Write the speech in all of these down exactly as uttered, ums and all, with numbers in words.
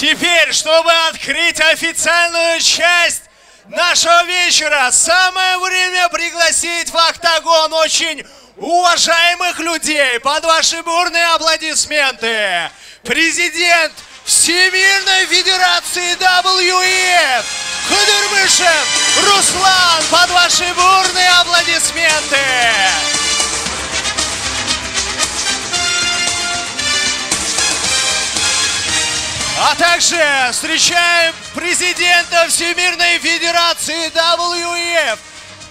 Теперь, чтобы открыть официальную часть нашего вечера, самое время пригласить в октагон очень уважаемых людей под ваши бурные аплодисменты. Президент Всемирной Федерации дабл ю и эф Кудырмышев Руслан под ваши бурные аплодисменты. А также встречаем президента Всемирной Федерации дабл ю и эф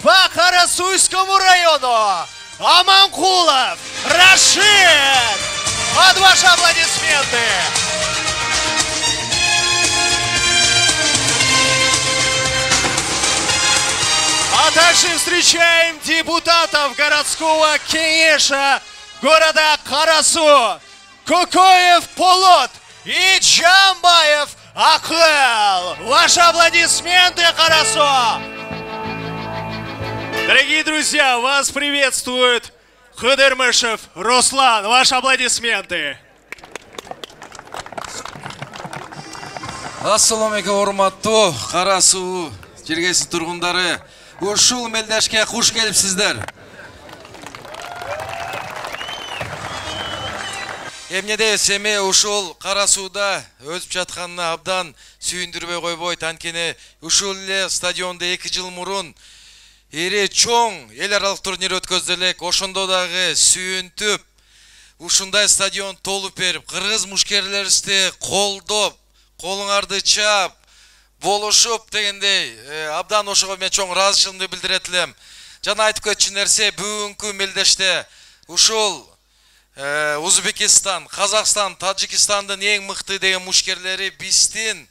по Карасуйскому району Аманкулов Рашид. Под ваши аплодисменты. А также встречаем депутатов городского кеңеша города Карасу Кокоев Полот и Джамбаев Акыл. Ваши аплодисменты, Карасу! Дорогие друзья, вас приветствует Кудырмышев Руслан. Ваши аплодисменты. Ассаламу алейкум, урматтуу Карасу жергесин тургундары. Ушул мелдешке куш келипсиздер. Эмне дейбиз, эми ушул Карасууда өтүп жатканына абдан сүйүндүрбөй койбойт. Анткени ушул эле стадиондо эки жыл мурун эре чоң эл аралык турнир өткөзүлөк. Ошондо дагы сүйүнтүп, ушундай стадион толуп берип, кыргыз мушкерлерибизди колдоп, колуңарды чаап, болушуп дегендей, абдан ошого мен чоң ыраазычылыгымды билдирет элем. Жана айтып кетчү нерсе, бүгүнкү мелдеште ушул Узбекистан, Казакстан, Таджикистандын эң мыкты деген мушкерлери биздин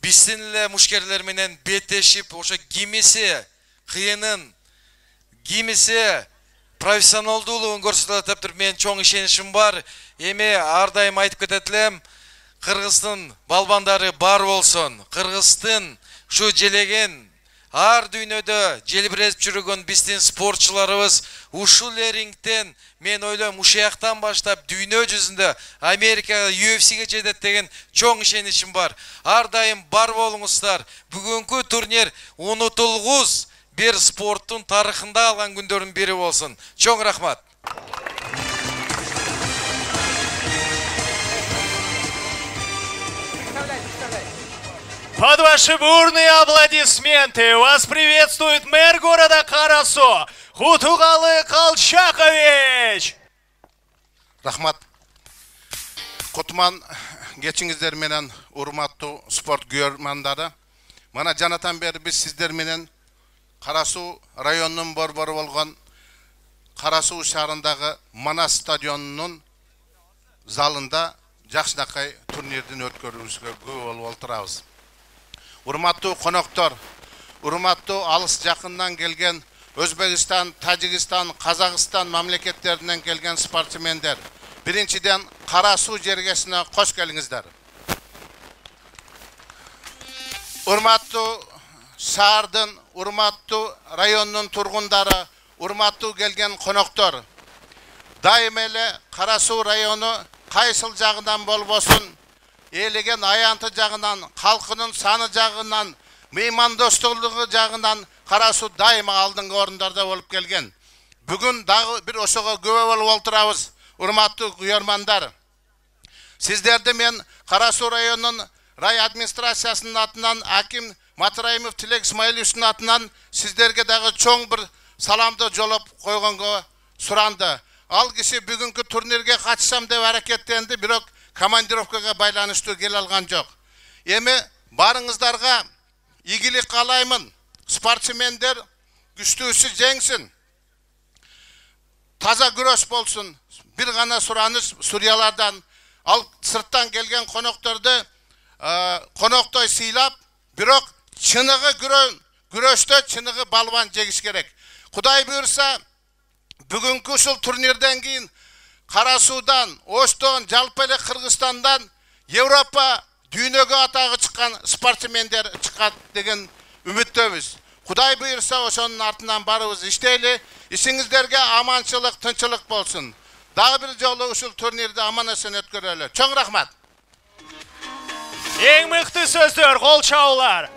биздин эле мушкерлер менен беттешип, ошо кимиси кыйынын, кимиси профессионалдуулугун көрсөтөт деп мен чоң ишеничим бар. Эми ар дайым айтып кетет элем, Кыргыздын балбандары бар болсун. Кыргыздын ушу желеген ар дүйнөдө желбиретип жүргөн биздин спортчуларыбыз ушул рингден мен ойлойм ушуяктан баштап дүйнө жүзүндө Америкага ю эф сиге жетет деген чоң ишеничим бар. Ар дайым бар болуңуздар. Бүгүнкү турнир унутулгус бир спорттун тарыхында алган күндөрдүн бири болсун. Чоң рахмат. Под ваши бурные аплодисменты вас приветствует мэр города Карасу Кутугалы Колчакович. Рахмат. Кутман кечиңиздер менен урматтуу спорт көрөрмандары. Мана жанатан бери биз сиздер менен Карасу районунун борбору болгон Карасу шаарындагы Манас стадионунун залында жакшынакай турнирдин өткөрүүсүгө күбө болуп отурабыз. Урматтуу коноктор, урматтуу алыс жакындан келген Өзбекстан, Тажикстан, Казакстан мамлекеттеринен келген спортсмендер, биринчиден Карасу жергесине кош келиңиздер. Урматтуу шаардын, урматтуу районунун тургундары, урматтуу келген коноктор, дайым эле Карасу району кайсыл жагынан болбосун, элеген аянты жагынан, халкынын саны жагынан, меймандостугу жагынан Карасу дайыма алдыңкы орундарда болуп келген. Бүгүн дагы бир ошого күбө болуп отурабыз, урматтуу көрөрмандар. Сиздерди мен Карасу районунун рай администрациясынын атынан, Аким Матраимов Тилек Исмаиловичтин атынан сиздерге дагы чоң бир саламды жолоп койгонго суранды. Ал киши бүгүнкү турнирге катышсам деп аракеттенди, бирок командировкага байланыштуу келе алган жок. Эми барыңыздарга ийгилик каалаймын. Спортсмендер күчтүүсү жеңсин. Таза күрөш болсун. Бир гана сураныш Суриялардан, ал сырттан келген конокторду коноктой сыйлап, бирок чыныгы күрөштө чыныгы балбан жегиш керек. Кудай буйрса, бүгүнкү ушул турнирден кийин Карасудан, Оштон, жалпы эле Кыргызстандан Европа дүйнөгө атагы чыккан спортсмендер чыкат деген үмүттөбүз. Кудай буйрса ошонун артынан барыбыз иштейли. Ишиңиздерге аманчылык, тынчылык болсун. Дагы бир жолу ушул турнирди аман эсен өткөрөлү. Чоң рахмат. Эң мыкты сөздөр, кол чабуулар.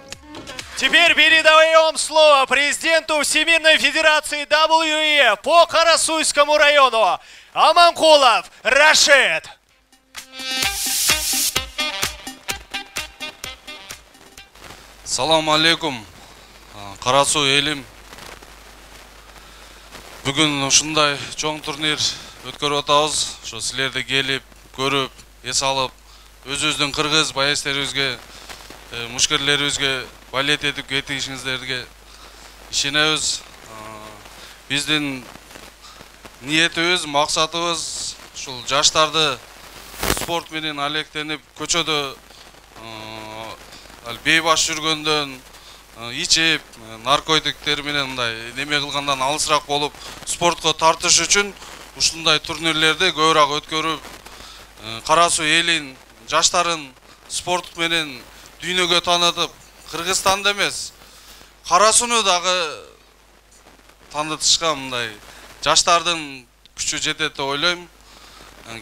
Теперь передаем слово президенту Всемирной Федерации дабл ю и эф по Карасуйскому району Аманкулов Рашид. Салам алейкум, Карасу элим. Бүгүн ушундай чоң турнир өткөрүп атабыз. Ошо силерди келип, көрүп, эс алып, өзүбүздүн кыргыз байестерибизге, мушкерлерибизге балет этип кетишиңиздерге ишенебиз. Биздин ниетибиз, максатыбыз ушул жаштарды спорт менен алектенип, көчөдө бейбаш жүргөндөн, ичип, наркотиктер менен мындай неме кылгандан алысыраак болуп, спортко тартыш үчүн ушундай турнирлерди көбүрөөк өткөрүп, Карасу элин, жаштарын спорт менен дүйнөгө таанытып, Кыргызстанды эмес, Карасуну дагы таанытышка мындай жаштардын күчү жетет деп ойлойм.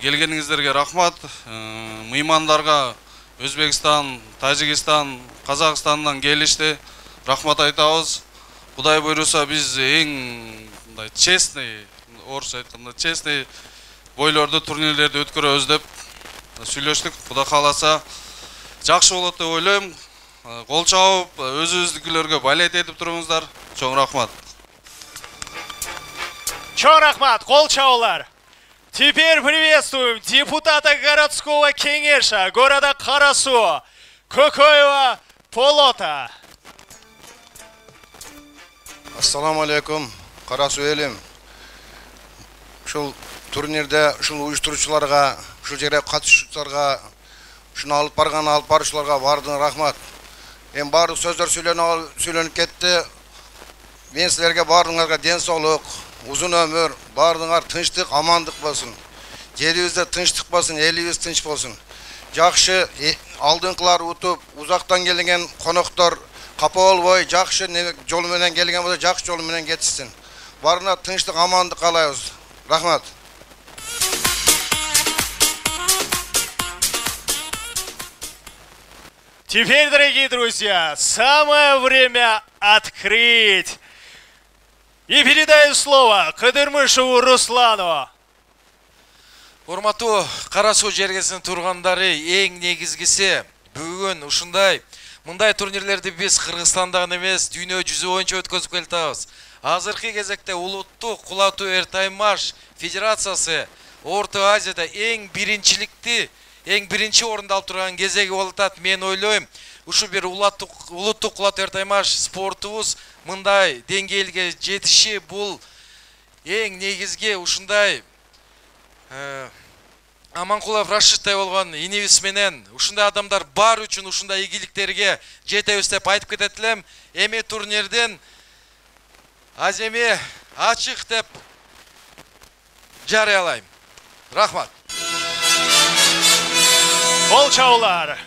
Келгениңиздерге рахмат. Мыймандарга Өзбекстан, Тажикстан, Казакстандан келишти. Рахмат айтабыз. Кудай буйруса биз эң мындай честный, орусча айтканда честный бойлорду турнирлерди өткөрөбүз деп сүйлөштүк. Кудай кааласа жакшы болот деп ойлойм. Кол чабып, өзүбүздүкүлөргө балет этип туруңуздар. Чоң рахмат. Чоң рахмат, кол чабуулар. Теперь приветствуем депутата городского кеңеша города Карасу Кокоева Полота. Ассаламу алейкум, Карасу элим. Ушул турнирде ушул уюштуруучуларга, ушул жерге катышуучуларга, ушуну алып барган алып баруучуларга баардыгына рахмат. Эми баардык сөздөр сүйлөнүп кетти. Мен силерге баардыгыңарга ден соолук, узун өмүр, баардыгыңар тынчтык, амандык болсун. Жерибизде тынчтык болсун, элибиз тынч болсун. Жакшы алдыңкылар утуп, узактан келген коноктор капа болбой, жакшы жол менен келген болсо, жакшы жол менен кетишсин. Баарына тынчтык, амандык каалайбыз. Рахмат. Теперь, дорогие друзья, самое время открыть. И передаю слово Кадырмышеву Руслану. Урматтуу Карасу жергесинин тургандары, эң негизгиси бүгүн ушундай мындай турнирлерди биз Кыргызстанда гана эмес, дүйнө жүзү боюнча өткөзүп келатабыз. Азыркы кезекте улуттук кулатуу эртаймаш федерациясы Орто Азияда эң биринчиликти, эң биринчи орунду алып турган кезеги болуп атат. Мен ойлойм, ушу бир улуттук кулатуу эртаймаш спортубуз мындай деңгээлге жетиши бул эң негизги ушундай Аманкулов Рашидтай болгон инибиз менен ушундай адамдар бар үчүн ушундай ийгиликтерге жетебиз деп айтып кетет элем. Эми турнирдин аземи ачык деп жарыялайм. Рахмат. Кол чабуулар.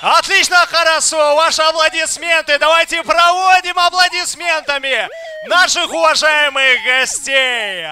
Отлично, Карасу, ваши аплодисменты. Давайте проводим аплодисментами наших уважаемых гостей.